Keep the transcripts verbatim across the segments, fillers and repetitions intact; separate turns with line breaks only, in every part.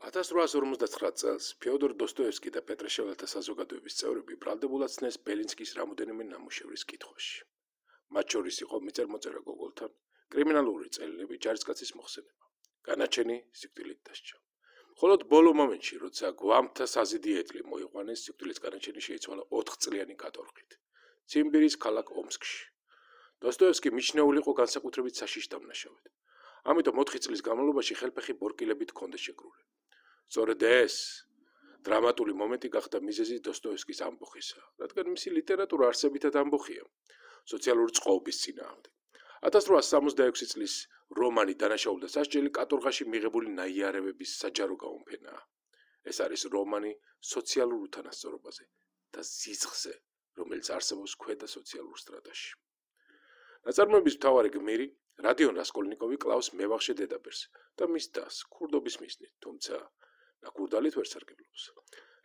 ათას რვაას ორმოცდათხრათ წელს ფეოდორ დოსტოევსკი და პეტრეშეველთა საზოგადოების წევრები ბრალდებულად ცნეს ბელინსკის რამოდენიმე ნამუშევრის კითხვაში. მათ შორის იყო მიწერ-მოწერა გოგოლთან, კრიმინალური წერილები, ჯარისკაცის მოხსენება. განაჩენი სიკვდილით დასჯა. მხოლოდ ბოლო მომენტში, როცა გვამთა საზიდი ეტლი მოიყვანეს, სიკვდილის განაჩენი შეიცვალა ოთხწლიანი კატორღით. ციმბირის ქალაქ ომსკში. დოსტოევსკი მიჩნეული იყო განსაკუთრებით საშიშ დამნაშავედ. ამიტომ ოთხი წლის განმავლობაში ხელფეხი ბორკილებით ჰქონდა შეკრული. სწორედ ეს დრამატული მომენტი გახდა მიზეზი დოსტოევსკის ამბოხისა, რადგან მისი ლიტერატურა არსებითად ამბოხია სოციალური წყობის წინააღმდეგ. ათას რვაას სამოცდაექვსი წლის რომანი დანაშაულ და სასჯელი კატორღაში მიღებული ნაიარევების საჯარო გაუმფენაა. ეს არის რომანი სოციალურ უთანასწორობაზე და სიცხზე, რომელიც არსებობს ქვედა სოციალურ სტრატაში. ნაწარმოების მთავარი გმირი რადიონ რასკოლნიკოვი კლავს მევახშე დედაბერს და მის დას ქურდობის მიზნით, თუმცა ნაკურდალით ვერ სარგებლობს,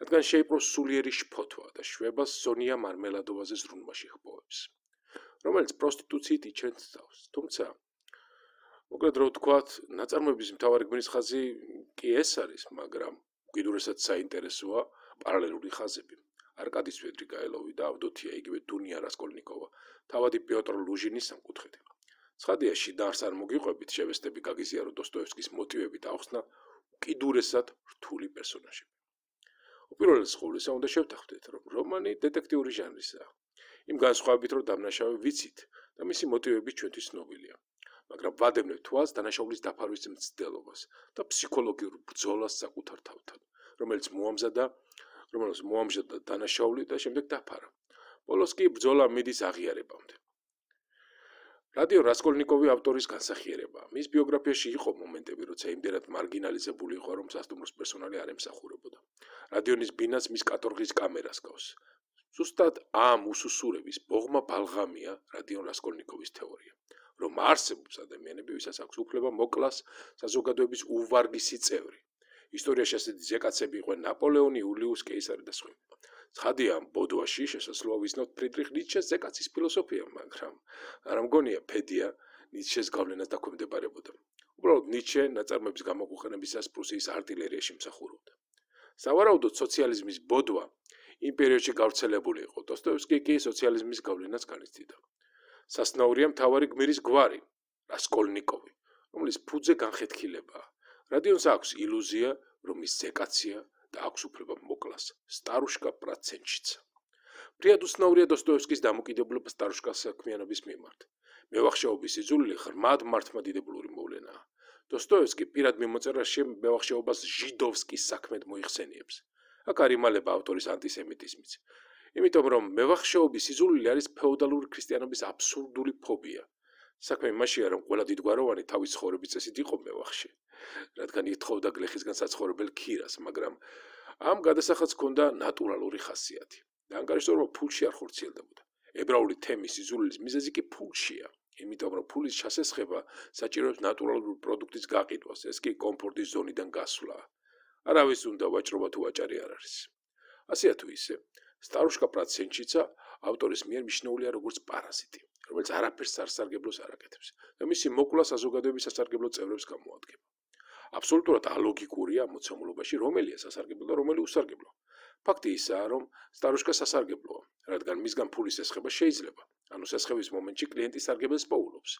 რადგან შეიპყროს სულიერი შფოთვა და შვებას სონია მარმელადოვაზე ზრუნვაში ხპოვებს, რომელიც პროსტიტუციით იჩენს თავს. თუმცა, მოკლედ რო ვთქვათ, ნაწარმოების მთავარი გმირის ხაზი კი ეს არის, მაგრამ უკიდურესად საინტერესოა პარალელური ხაზები. არკადი სვედრიგაელოვი და ავდოთია, იგივე დუნია რასკოლნიკოვა, თავადი პიოტრ ლუჟინის სამკუთხედი. ცხადია, შინაარს არ მოგიყვებით, შევესწრები გაგიზიარო დოსტოევსკის მოტივები და ახსნა უკიდურესად რთული პერსონაჟები. უპირველეს ყოვლისა, უნდა შევთანხმდეთ, რომ რომანი დეტექტიური ჟანრისაა. იმ განსხვავებით, რომ დამნაშავე ვიცით და მისი მოტივები ჩვენთვის ცნობილია. მაგრამ ვადევნებთ თვალს დანაშაულის დაფარვის მცდელობას და ფსიქოლოგიურ ბრძოლას საკუთარ თავთან, რომელიც მოამზადა, რომელიც მოამზადა დანაშაული და შემდეგ დაფარა. ბოლოს კი ბრძოლა მიდის აღიარებამდე. რადიო რასკოლნიკოვი ავტორის განსახიერებაა. მის ბიოგრაფიაში იყო მომენტები, როცა იმდენად მარგინალიზებული იყო, რომ სასტუმროს პერსონალი არ ემსახურებოდა. რადიონის ბინას მის კატორღის კამერას გავს. ზუსტად ამ უსუსურების ბოღმა ბალღამია რადიონ რასკოლნიკოვის თეორია, რომ არსებობს ადამიანები, ვისაც აქვს უფლება მოკლას საზოგადოების უვარგისი წევრი. ისტორიაში ასეთი ზეკაცები იყვნენ ნაპოლეონი, იულიუს კეისარი და სხვები. ცხადია, ამ ბოდვაში შესაძლოა ვიცნობთ ფრიდრიხ ნიშეს ზეკაცის ფილოსოფია, მაგრამ არ მგონია ფედია ნიშეს გავლენას დაქვემდებარებოდა. უბრალოდ ნიშე ნაწარმოების გამოყენებისას პრუსიის არტილერიაში მსახურობდა. სავარაუდოდ სოციალიზმის ბოდვა იმ პერიოდში გავრცელებული იყო. დოსტოევსკი კი სოციალიზმის გავლენას განიცდიდა. სასნაურია მთავარი გმირის გვარი, რასკოლნიკოვი, რომლის ფუძე განხეთქილებაა. რადიონს აქვს ილუზია, რომ ის ზეკაცია და აქვს უფლება მოკლას სტარუშკა პრაცენჩიცა. ფრიად უცნაურია დოსტოევსკის დამოკიდებულება სტარუშკას საქმიანობის მიმართ. მევახშეობის სიძულვილი ღრმად მართლმადიდებლური მოვლენაა. დოსტოევსკი პირად მიმოწერაში მევახშეობას ჟიდოვსკის საქმედ მოიხსენიებს. აქ არ იმალება ავტორის ანტისემიტიზმიც. იმიტომ რომ მევახშეობის სიძულვილი არის ფეოდალური ქრისტიანობის აბსურდული ფობია. საქმე იმაშია, რომ ყველა დიდგვაროვანი თავის ცხოვრების წესით იყო მევახშე, რადგან ითხოვდა გლეხისგან საცხოვრებელ ქირას, მაგრამ ამ გადასახადს ჰქონდა ნატურალური ხასიათი. და ანგარიშტორობა ფულში არ ხორციელდებოდა. ებრაული თემის სიძულვილის მიზეზი კი ფულშია, იმიტომ რომ ფულის ჩასესხება საჭიროებს ნატურალური პროდუქტის გაყიდვას, ეს კი კომფორტის ზონიდან გასვლაა. არავის უნდა ვაჭრობა თუ ვაჭარი არ არის. ასეა თუ ისე, სტარუშკა პრაცენჩიცა ავტორის მიერ მიჩნეულია როგორც პარაზიტი, რომელიც არაფერს სასარგებლოს არ აკეთებს და მისი მოკლა საზოგადოების სასარგებლო წევრებს გამოადგება. აბსოლუტურად ალოგიკურია ამ მოცემულობაში, რომელია სასარგებლო და რომელი უსარგებლო. ფაქტი ისაა, რომ სტარუშკა სასარგებლოა, რადგან მისგან ფულის ესხება შეიძლება, ანუ სასხების მომენტში კლიენტი სარგებელს პოულობს,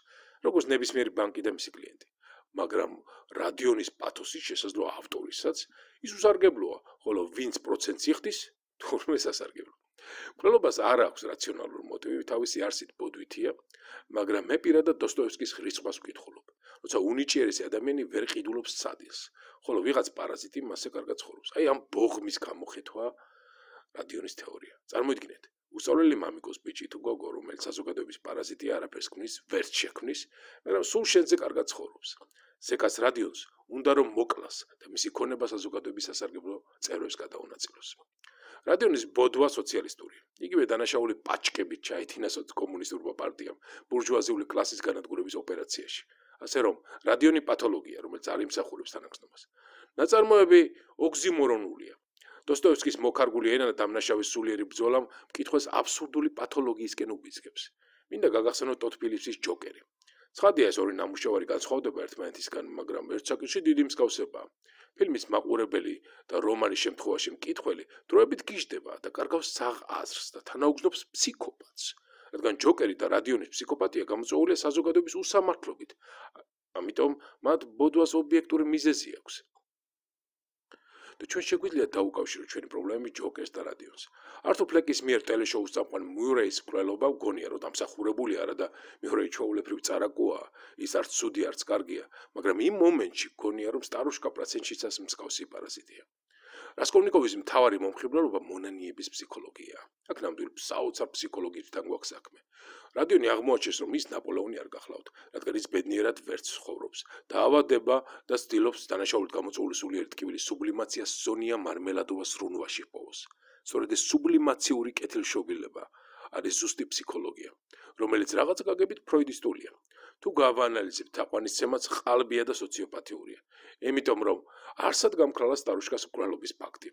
როგორც ნებისმიერი ბანკი და მისი კლიენტი. მაგრამ რადიონის პათოსი შესაძლოა ავტორისაც ის უსარგებლოა, ხოლო ვინც პროცენტს იხდის, თურმე სასარგებლო. მკვლელობას არ აქვს რაციონალური მოტივი, თავისი არსით ბოდვითია, მაგრამ მე პირადად დოსტოევსკის რიცხვას ვკითხულობ. როცა უნიჭიერესი ადამიანი ვერ ყიდულობს სადილს, ხოლო ვიღაც პარაზიტი მასზე კარგად ცხოვრობს. აი ამ ბოღმის გამოხეთვა რადიონის თეორია. წარმოიდგინეთ, უსწავლელი მამიკოს ბიჭი თუ გოგო, რომელიც საზოგადოების პარაზიტია, არაფერს ქმნის, ვერც შექმნის, მაგრამ სულ შენზე კარგად ცხოვრობს. ზეკას რადიონს უნდა რომ მოკლას და მისი ქონება საზოგადოების სასარგებლო წევრებს გადაუნაწილოს. რადიონის ბოდვა სოციალისტურია. იგივე დანაშაული პაჭკებით ჩაითინა კომუნისტურმა პარტიამ ბურჟუაზიული კლასის განადგურების ოპერაციაში. ასე რომ, რადიონი პათოლოგია, რომელიც არ იმსახურებს თანახმდნობას. ნაწარმოები ოქსიმორონულია. დოსტოევსკის მოქარგული ენა და დამნაშავის სულიერი ბრძოლა მკითხვას აბსურდული პათოლოგიისკენ უბიძგებს. მინდა გაგახსენოთ ტოდ ფილიპსის ჯოკერი. ცხადია ეს ორი ნამუშევარი განსხვავდება ერთმანეთისგან, მაგრამ ერთ საკითხში დიდი მსგავსებაა. ფილმის მაყურებელი და რომანის შემთხვევაში მკითხველი დროებით გიждდება და კარგავს საღ აზრს და თანაუგზნობს ფსიქოპათს. რადგან ჯოკერი და რადიონის ფსიქოპათია გამოწვეულია საზოგადოების უსამართლობით, ამიტომ მათ ბოდვას ობიექტური მიზეზი აქვს. და ჩვენ შეგვიძლია დაუკავშიროთ ჩვენი პრობლემები ჯოკერს და რადიონს. ართურ ფლეკის მიერ ტელეშოუს წამყვან მიურეის მკვლელობა მგონია, რომ დამსახურებული არა და მიურეი ჩვეულებრივ წარაკოა, ის არც ცუდი, არც კარგია, მაგრამ იმ მომენტში მგონია, რომ სტარუშკა პროცენტშიცას მსგავსი პარაზიტია. რასკოლნიკოვის მთავარი მომხიბლელობა მონანიების ფსიქოლოგიაა. აქ ნამდვილი საოცარ ფსიქოლოგიისთან გვაქვს საქმე. რადიონი აღმოაჩენს, რომ ის ნაპოლეონი არ გახლავთ, რადგან ის ბედნიერად ვერც ცხოვრობს. დაავადება და ცდილობს დანაშაულით გამოწვეული სულიერი ტკივილის სუბლიმაციას სონია მარმელადოვას სრუნვაში ჰპოვოს. სწორედ ეს სუბლიმაციური კეთილშობილება არის ზუსტი ფსიქოლოგია, რომელიც რაღაც გაგებით ფროიდისტულია. თუ გავაანალიზებთ, თაყვანისცემაც ყალბია და სოციოპათიურია. იმიტომ რომ არსად გამქრალა სტარუშკას მკვლელობის ფაქტი.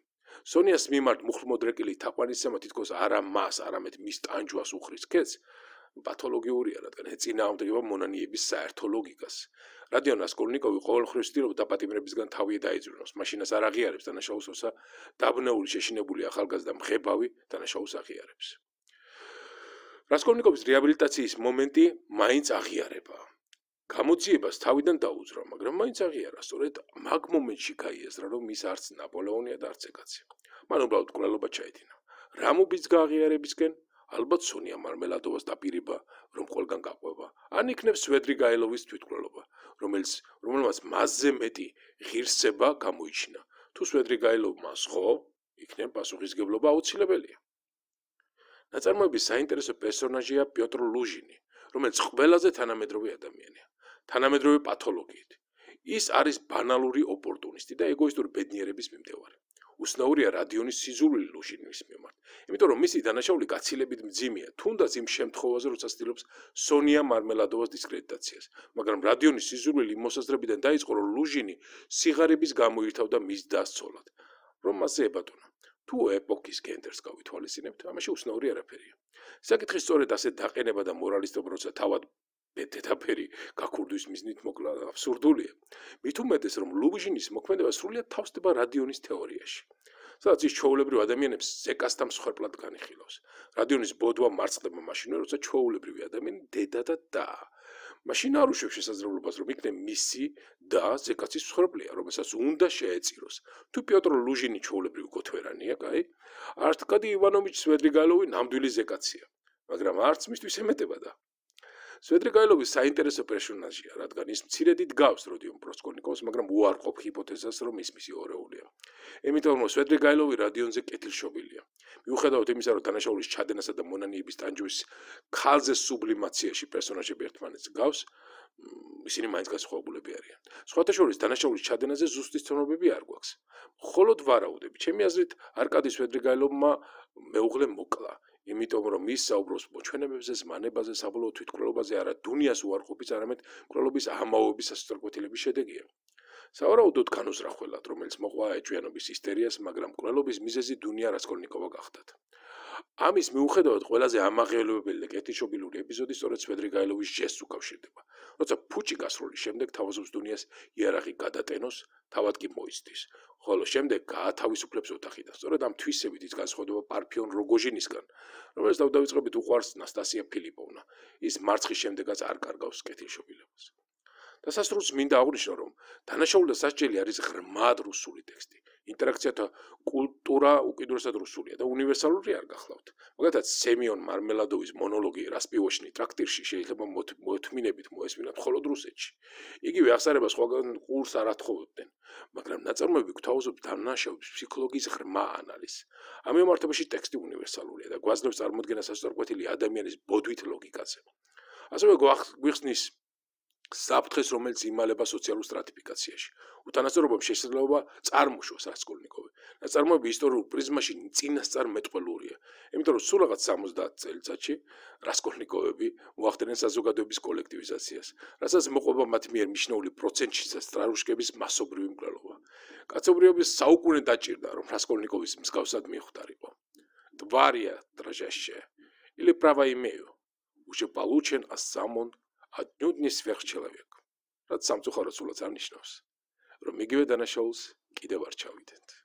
სონიას მიმართ მუხლმოდრეკილი თაყვანისცემა თითქოს არა მას, არამედ მის ტანჯვას უხრის ქედს, პათოლოგიურია, რადგან ეწინააღმდეგება მონანიების საერთო ლოგიკას. რადიონ რასკოლნიკოვი ყოველმხრივ ცდილობს დაპატიმრებისგან თავი დაიძვრინოს, მაშინაც არ აღიარებს დანაშაულს, როცა დაბნეული შეშინებული ახალგაზრდა მღებავი დანაშაულს აღიარებს. რასკოლნიკოვის რეაბილიტაციის მომენტი მაინც აღიარება. გამოძიებას თავიდან დაუძრა, მაგრამ მაინც აღიარა, სწორედ მაგ მომენტში გაიაზრა, რომ ის არც ნაპოლეონია და არც ეკაცი. მან უბრალოდ მკვლელობა ჩაედინა. რა მობიც გააღიარებისკენ, ალბათ სონია მარმელადოვას დაპირება, რომ ყველგან გაყვება, ან იქნებ სვედრიგაილოვის თვითმკვლელობა, რომელიც რომელმაც მასზე მეტი ღირსება გამოიჩინა. თუ სვედრიგაილოვმა სღო, იქნებ პასუხისგებლობა აუცილებელია. ნაწარმოების საინტერესო პერსონაჟია პიოტრ ლუჟინი, რომელიც ყველაზე თანამედროვე ადამიანია, თანამედროვე პათოლოგიით. ის არის ბანალური ოპორტუნისტი და ეგოისტური ბედნიერების მიმდევარი. უცნაურია რადიონის სიზულვილი ლუჟინის მიმართ, იმიტომ რომ მისი დანაშაული გაცილებით მძიმეა, თუნდაც იმ შემთხვევაზე, როცა ცდილობს სონია მარმელადოვას დისკრედიტაციას, მაგრამ რადიონის სიზულვილი მოსაზრებიდან დაიწყო, რომ ლუჟინი სიღარიბის გამოირთავდა მის დასცოლად, რომ მასზე ებატონა. თუ ეპოქის გენდერს გავითვალისწინებთ, ამაში უცნაური არაფერია. საკითხი სწორედ ასე დაყენება და მორალისტობა, როცა თავად ბედეთაფერი გაქურდვის მიზნით მოკლა აბსურდულია. მით უმეტეს, რომ ლუჟინის მოქმედება სრულიად თავსდება რადიონის თეორიაში, სადაც ის ჩვეულებრივ ადამიანებს ზეკასთან მსხვერპლად განიხილავს. რადიონის ბოდვა მარცხდება მაშინვე, როცა ჩვეულებრივი ადამიანი დედა და და. მაშინ არ უშვებს შესაძლებლობას, რომ იქნებ მისი და ზეკაცის მსხვერპლია, რომელსაც უნდა შეეწიროს. თუ პიოტრ ლუჟინი ჩვეულებრივი გოთვერანია, კაი, არტკადი ივანოვიჩ სვედრიგაილოვი ნამდვილი ზეკაცია, მაგრამ არც მისთვის ემეტება და სვედრიგაილოვი საინტერესო პერსონაჟია, რადგან ის მცირედი დგავს როდიონ პროსკოლნიკოვს, მაგრამ უარყოფ ჰიპოთეზას, რომ ის მისი ორეულია. იმიტომ რომ სვედრიგაილოვი რადიონზე კეთილშობილია. მიუხედავად იმისა, რომ დანაშაულის ჩადენასა და მონანიების ტანჯვის ქალზე სუბლიმაციაში პერსონაჟები ერთმანეთს გავს, ისინი მაინც განსხვავებულები არიან. სხვათა შორის დანაშაულის ჩადენაზე ზუსტი ცნობები არ გვაქვს. მხოლოდ ვარაუდები. ჩემი აზრით, არკადი სვედრიგაილოვმა მეუღლე მოკლა. იმიტომ რომ ის საუბრობს მოჩვენებებზე, ზმანებაზე, საბოლოო თვითმკვლელობაზე, არა დუნიას უარყოფის, არამედ მკვლელობის ამაოების სასწორკვეთილების შედეგია. სავარაუდოდ განუზრახველად, რომელიც მოყვა ეჭვიანობის ისტერიას, მაგრამ მკვლელობის მიზეზი დუნია რასკოლნიკოვა გახდათ. ამის მიუხედავად ყველაზე ამაღელვებელი და კეთილშობილური ეპიზოდი სწორედ სვედრიგაილოვის ჟესტს უკავშირდება. როცა ფუჭი გასროლის შემდეგ თავაზობს დუნიას იარაღი გადატენოს, თავად კი მოიცდის. ხოლო შემდეგ გაათავისუფლებს ოთახიდან. სწორედ ამ თვისებით ის განსხვავდება პარფიონ როგოჟინისგან, რომელიც თავდავიწყებით უყვარს ნასტასია ფილიპოვნა. ის მარცხის შემდეგაც არ კარგავს კეთილშობილებას. დასასრულს მინდა აღვნიშნო, რომ დანაშაული და სასჯელი არის ღრმად რუსული ტექსტი. ინტერაქციათა კულტურა უკიდურესად რუსულია და უნივერსალური არ გახლავთ. მაგალითად, სემიონ მარმელადოვის მონოლოგი რასპივოჩნი ტრაქტირში შეიძლება მოთმინებით მოესმინათ მხოლოდ რუსეთში. იგივე აღსარება სხვაგან ყურს არ ათხოვებდნენ, მაგრამ ნაწარმოები გვთავაზობს დანაშაულის ფსიქოლოგიის ღრმა ანალიზს. ამ მიმართებაში ტექსტი უნივერსალურია და გვაძლევს წარმოდგენას სასწორკვეთილი ადამიანის ბოდვით ლოგიკაზე. ასევე გვიხსნის საფრთხეს, რომელიც იმალება სოციალურ სტრატიფიკაციაში. უთანასწორობამ შესაძლებლობა წარმოშოს რასკოლნიკოვი. ნაწარმოები ისტორიულ პრიზმაში წინასწარ მეტყველურია, იმიტომ რომ სულ რაღაც სამოცდაათ წელიწადში რასკოლნიკოვები მოახდენენ საზოგადოების კოლექტივიზაციას, რასაც მოყვება მათ მიერ მიჩნეული პროცენტში სტარუშკების მასობრივი მკვლელობა. კაცობრიობის საუკუნე დაჭირდა, რომ რასკოლნიკოვის მსგავსად მიხვდარიყო. Tvaria dražašće ili prava imaju. Уже получен, а сам он Newton-ის ვერჩელავი აქვს. რაც სამწუხაროდ სულაც არ ნიშნავს, რომ იგივე დანაშაულს კიდევ არ ჩავიდეთ.